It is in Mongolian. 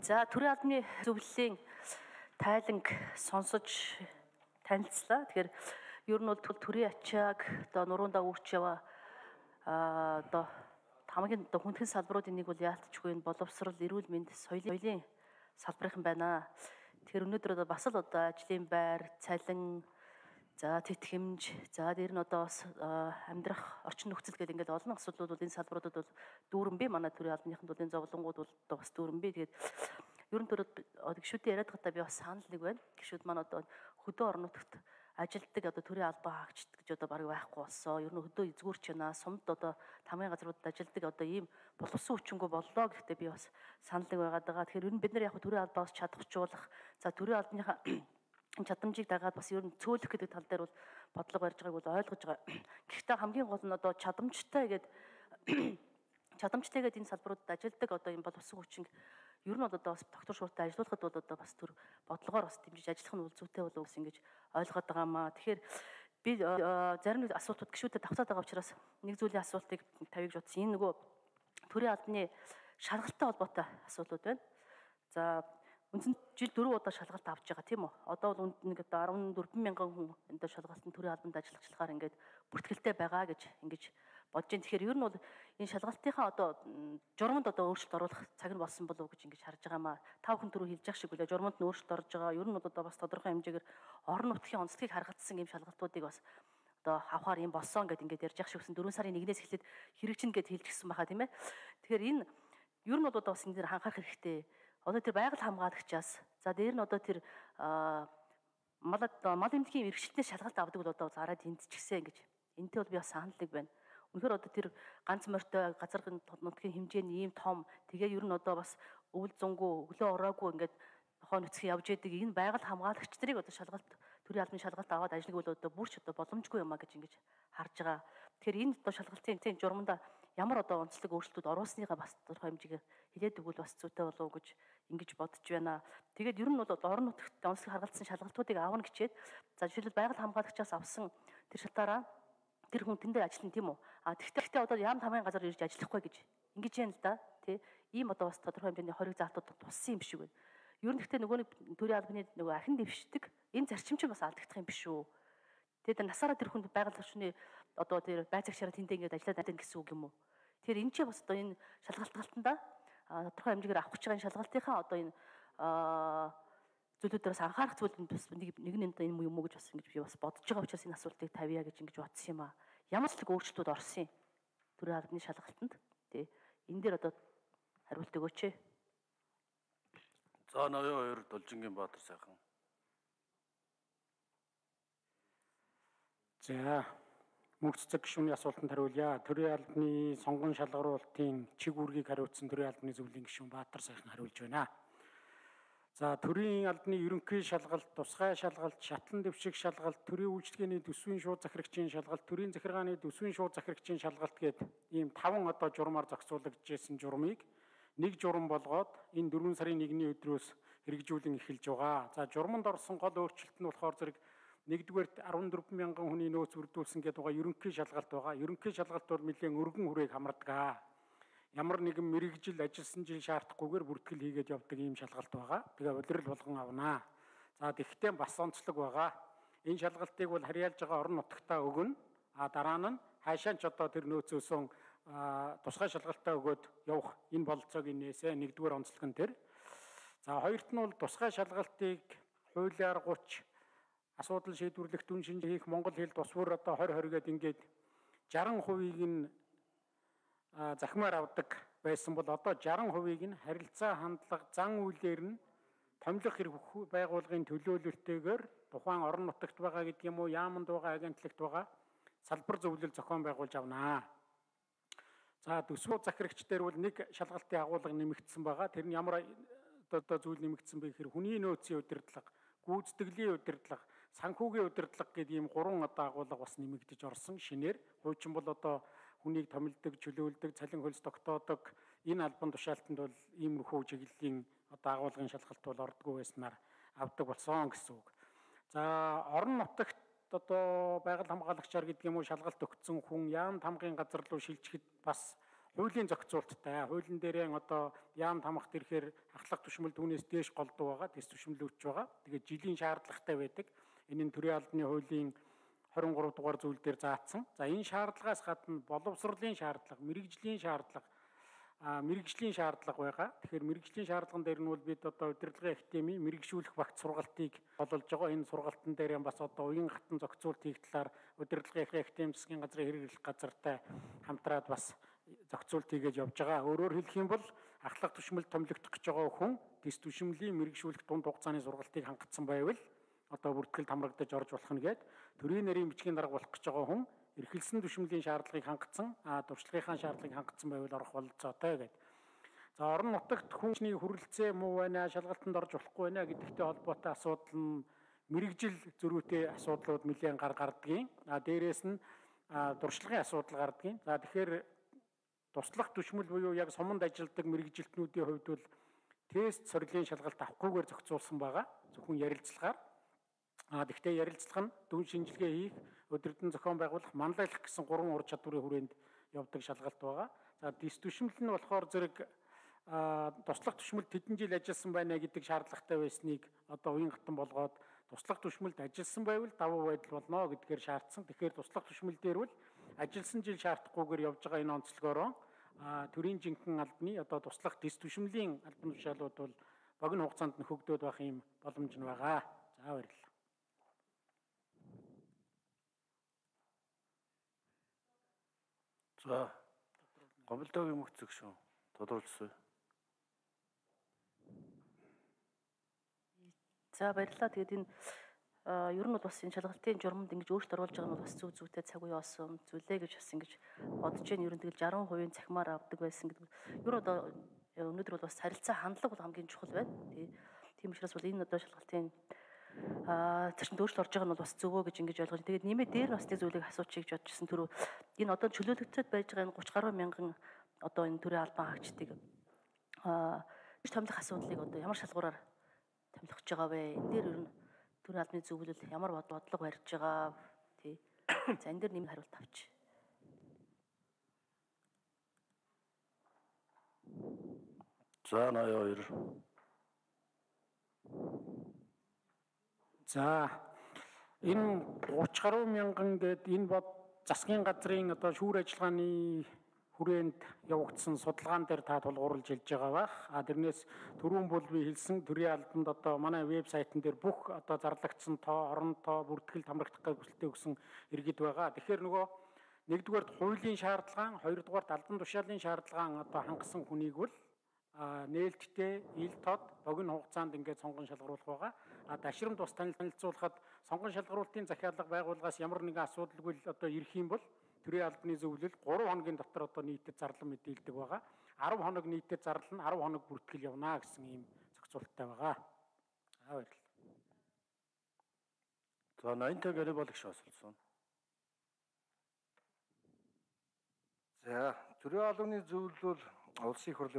За төрийн албаны зөвлөлийн тайланг сонсож танилцлаа. Тэгэхээр ер нь бол төрийн ачааг одоо нуруундаа үүрч яваа одоо хамгийн хүндхэн салбаруудын нэг бол яалтчгүй энэ боловсрол, эрүүл мэнд, соёлын салбарынхан байна. Тэгэхээр өнөөдөр одоо бас л одоо ажлын байр, цалин, за тэтгэмж, за дээр нь одоо бас амьдрах орчин нөхцөл гэдэг ингээд олон асуудлууд бол энэ салбаруудад бол дүүрэн бий. Манай төрийн албаныханд бол энэ зовлонгууд бол одоо бас дүүрэн бий. Тэгээд ер нь гишүүдийн яриад гадаа би бас санал нэг байна. Гишүүд маань одоо хөдөө орон нутагт ажилтдаг одоо төрийн албан хаагчд гэж одоо бараг байхгүй болсон. Ер нь хөдөө эзгүүрч байна. Сумд одоо тамгын газруудад ажилтдаг одоо ийм боловсон хүчингү боллоо гэхдээ би бас санал нэг байгаад байгаа. Тэгэхээр ер нь бид нар яг төрийн албаас чадахжуулах, за төрийн албаныхаа чадамжийг дагаад бас ер нь цөөлөх гэдэг тал дээр бол бодлого барьж байгааг бол ойлгож байгаа. Гэхдээ хамгийн гол нь одоо чадамжтайгээд энэ салбаруудад ажилтдаг одоо энэ боловсон хүчин ер нь бол одоо бас доктор шууртаа ажиллуулахад бол одоо бас төр бодлогоор бас дэмжиж ажиллах нь бол зүйтэй болов гэсэн ингэж ойлгоод байгаамаа. Тэгэхээр би зарим нэг асуултууд гişүүдэд давтаад байгаа учраас нэг зүйлийн асуултыг тавьж утсан. Энэ нөгөө төрийн албаны шалгалттай холбоотой асуудлууд байна. За үндсэн жил 4 удаа шалгалт авч байгаа тийм үү? Одоо бол нэг одоо 14,000 хүн энэ шалгалтын төрийн албанд ажиллагчлахаар ингээд бүртгэлтэй байгаа гэж ингэж бодож байна. Тэгэхээр ер нь бол энэ шалгалтынхаа одоо журманд одоо өөрчлөлт оруулах цаг нь болсон болов уу гэж ингэж харж байгаамаа. Та бүхэн түрүү хэлж явах шиг үлээ журманд нь өөрчлөлт орж байгаа. Ер нь бол одоо бас тодорхой хэмжээгээр орон нутгийн онцлогийг харгацсан ийм шалгалтуудыг бас одоо авахаар юм болсон гэдээ ингэж ярьж явах шиг гэсэн 4 сарын 1-ээс эхлээд хэрэгжинэ гэд хэлчихсэн байхаа тийм ээ. Тэгэхээр энэ ер нь бол одоо бас энэ дээр анхаарах хэрэгтэй. Одоо тэр байгаль хамгаалагчаас за дээр нь одоо тэр мал эмнэлгийн мэргэжилтнээс шалгалт авдаг бол одоо зараад эндчихсэн гэж. Энтэй бол би бас санал нэг байна. Үнэхээр одоо тэр ганц морьтой газар нутгийн хэмжээний ийм том тэгээ ер нь одоо бас өвөл зөнгөө өглөө ороогүй ингээд нохоо нүцгэн явж яадаг энэ байгаль хамгаалагч нарыг одоо шалгалт төрийн албаны шалгалт аваад ажиллах бол одоо бүрч одоо боломжгүй юм а гэж ингэж харж байгаа. Тэгэхээр энэ одоо шалгалтын журманда ямар одоо онцлог өөрчлөлтүүд оруулсныгаа бас тодорхой хэмжээгээр хэлээд өгвөл бас зүйтэй болов уу гэж ингэж бодож байна. Тэгээд ер нь бол орон нутагт онцлог харгалзсан шалгалтуудыг аавна гэчээд за жишээлбэл байгаль хамгаалагчаас авсан тэр шалтгаалаа тэр хүн тэндээ ажиллана тийм үү? Тэгтээ одоо яам тамгын газар ирж ажиллахгүй гэж ингэж яана л да тий. Ийм одоо бас тодорхой хэмжээний хориг заалтууд туссан юм шиг байна. Ер нь гэхдээ нөгөө нэг төрийн албаны нөгөө ахин дэвшдэг энэ зарчим чинь бас алдагдах юм биш үү? Тэгээд насаараа тэр хүнд байгаль орчны одоо тэр байцаагчаараа тэндээ ингэж ажиллаад байна гэсэн үг юм уу? Тэгэхээр энэ ч бас одоо энэ шалгалталтанда тодорхой хэмжээгээр авах гэж байгаа энэ шалгалтынхаа одоо энэ зүйлүүдээс анхаарах зүйл нь бас нэг энэ юм уу гэж бас ингэж би бас бодож байгаа учраас энэ асуултыг тавья гэж ингэж бодсон юм аа. Ямар ч өөрчлөлтүүд орсон юм төрийн албаны шалгалтанд тий энэ дээр одоо хариулт өгөөч. За ноён хоёр Должингийн Баатар сайхан. За мөнх цэцэг гишүүний асуултанд хариулъя. Төрийн албаны сонгон шалгаруулалтын чиг үүргийг хариуцсан төрийн албаны зөвлөлийн гишүүн Баатар сайхан хариулж байна. За төрийн албаны ерөнхий шалгалт, тусгай шалгалт, шатлан дэвшиг шалгалт, төрийн үйлчлэгээний төсвийн шууд захирагчийн шалгалт, төрийн захиргааны төсвийн шууд захирагчийн шалгалт гээд ийм 5 одоо журмаар зохицуулагдсан журмыг нэг журам болгоод энэ 4 сарын 1-ний өдрөөс хэрэгжүүлэн эхэлж байгаа. За журманд орсон гол өөрчлөлт нь болохоор зэрэг нэгдүгээрт 14,000 хүний нөөц бүрдүүлсэн гэдэг байгаа ерөнхий шалгалт байгаа. Ерөнхий шалгалт бол нэлээд өргөн хүрээг хамардаг. Ямар нэгэн мэрэгжил ажилласан жил шаардахгүйгээр бүртгэл хийгээд явдаг ийм шалгалт байгаа. Тэгээ улирал болгон авнаа. За тэгвэл бас онцлог байгаа. Энэ шалгалтыг бол харьяалж байгаа орон нутагтаа өгнө. Дараа нь хаашаа ч одоо тэр нөөцөөсөн тусгай шалгалтаа өгөөд явах энэ бололцоог нээсэ нэгдүгээр онцлог нь тэр. За хоёрт нь бол тусгай шалгалтыг хуулиар 30 асуудал шийдвэрлэх дүн шинж хийх монгол хэл тус бүр одоо 20 гээд ингээд 60%-ийг нь захимаар авдаг байсан бол одоо 60%-ийг нь харилцаа хандлага зан үйлээр нь томилох хэрэг байгууллагын төлөөлөлтөөр тухайн орон нутагт байгаа гэдэг юм уу, яаманд байгаа, агентлагт байгаа салбар зөвлөл зохион байгуулж авнаа. За төсвөө захирагч дээр бол нэг шалгалтын агуулга нэмэгдсэн байгаа. Тэр нь ямар одоо зүйл нэмэгдсэн бэ гэхээр хүний нөөцийн удирдлага, гүйцэтгэлийн удирдлага, санхүүгийн удирдлага гэдэг ийм 3 одоо агуулга бас нэмэгдэж орсон шинээр. Хуучин бол одоо хүнийг томилдог, чөлөөлдөг, цалин хөлс тогтоодог энэ албан тушаалтанд бол иймэрхүү чиглэлийн одоо агуулгын шалгалт бол ордгоо байснаар авдаг болсон гэсэн үг. За орон нутагт одоо байгаль хамгаалагчаар гэдэг юм уу шалгалт өгсөн хүн яам тамгын газар руу шилжихэд бас хуулийн зохицуулттай. Хуулийн дээрээ одоо яам тамхад ирэхээр ахлах түшмэл түүнээс дээш голдуу байгаа, дэс түшмэлүүч байгаа. Тэгээд жилийн шаардлагатай байдаг. Энэ нь төрийн албаны хуулийн 23 дугаар зүйл дээр заасан. За энэ шаардлагаас гадна боловсролын шаардлага, мэрэгжлийн шаардлага байгаа. Тэгэхээр мэрэгжлийн шаардлаган дээр нь бол бид одоо удирдлагын академи мэрэгшүүлэх багц сургалтыг бололж байгаа. Энэ сургалтын дээр бас одоо уян хатан зохицуулт хийх талаар удирдлагын академи засгийн газрын хэрэглэх газартай хамтраад бас зохицуулт хийж явж байгаа. Өөрөөр хэлэх юм бол ахлах түшмэл томилогдох гэж байгаа хүн дэс түшмэлийн мэрэгшүүлэх дунд хугацааны сургалтыг хангацсан байвал одоо бүртгэл хамрагдаж орж болох нь гээд төрийн нарийн бичгийн дарга болох гэж байгаа хүн эрхэлсэн түшмэлийн шаардлагыг хангацсан, туршлагынхаа шаардлагыг хангацсан байвал орох бололцоотой гэдэг. За орон нутагт хүнсний хүрэлцээ муу байна, шалгалтанд орж болохгүй байна гэдэгтэй холбоотой асуудал нь мэрэгжил зөрүүтэй асуудлууд нэлээд гардгийн. Дээрээс нь туршлагын асуудал гардгийн. За тэгэхээр туслах түшмэл буюу яг суманд ажилладаг мэрэгжилтнүүдийн хувьд бол тест сорилын шалгалт авахгүйгээр зохицуулсан байгаа. Зөвхөн ярилцлагаар. Гэхдээ ярилцлага нь дүн шинжилгээ хийх, өдөртөн зохион байгуулах, манлайлах гэсэн 3 ур чадварын хүрээнд явдаг шалгалт байгаа. За дэс түшмэл нь болохоор зэрэг туслах түшмэлд хэдэн жил ажилласан байна гэдэг шаардлагатай байсныг одоо уян хатан болгоод туслах түшмэлд ажилласан байвал давуу байдал болно гэдгээр шаардсан. Тэгэхээр туслах түшмэл дээр бол ажилласан жил шаардахгүйгээр явж байгаа энэ онцлогоороо төрийн жинхэнэ албаны одоо туслах дэс түшмэлийн албан тушаалууд бол богино хугацаанд нөхөгдөөд байх юм боломж нь байгаа. За баярлалаа. За гомдолтойг юм өгцөг шүү. Тодруулсан. За баярлалаа. Тэгээд энэ ер нь бол бас энэ шалгалтын журманд ингэж өөрчлөлт оруулж байгаа нь бол бас зүйтэй цаг үе болсон зүйлээ гэж бас ингэж бодож байна. Ер нь тэгэл 60% цахимаар авдаг байсан гэдэг. Ер нь одоо өнөөдөр бол бас харилцаа хандлага бол хамгийн чухал байна. Тийм учраас бол энэ одоо шалгалтын зөрчилд өөрчлөлт орж байгаа нь бол бас зөвөө гэж ингэж ойлгож. Тэгээд нэмээ дээр бас нэг зүйлийг асуучих гэж бодчихсон. Түрүү энэ одоо чөлөөлөгдөд байж байгаа энэ 30 гаруй мянган одоо энэ төрийн албан хаагчдыг томилох асуудлыг одоо ямар шалгуураар томилох гэж байгаа вэ? Энэ дээр ер нь төрийн албаны зөвлөл ямар бодлого барьж байгаа тий. За энэ дээр нэмэлт хариулт авч. За 82. За энэ 30 гаруй мянган гээд энэ бод засгийн газрын одоо шүүр ажиллагааны хүрээнд явагдсан судалгаан дээр та тулгуурлаж хэлж байгаа бах. Тэрнээс түрүүн бол би хэлсэн төрийн албанд одоо манай вебсайтн дээр бүх одоо зарлагдсан тоо, орон тоо, бүртгэл хамрагдах хүсэлтээ өгсөн иргэд байгаа. Тэгэхээр нөгөө нэгдүгээрт хуулийн шаардлага, хоёрдугаарт албан тушаалын шаардлага одоо хангасан хүнийг бол нээлттэй ил тод богино хугацаанд ингээд сонгон шалгаруулах байгаа. Дашрамд бас танилцуулахад сонгон шалгаруулалтын захиалга байгууллагаас ямар нэгэн асуудалгүй одоо ирэх юм бол төрийн албаны зөвлөл 3 хоногийн дотор одоо нийтэд зарлан мэдээлдэг байгаа. 10 хоног нийтэд зарлана, 10 хоног бүртгэл явна гэсэн ийм зохицуулттай байгаа. За баярлалаа. За 80-тай Гарибал гүш асуулсан. За төрийн албаны зөвлөл бол улсын их хурлын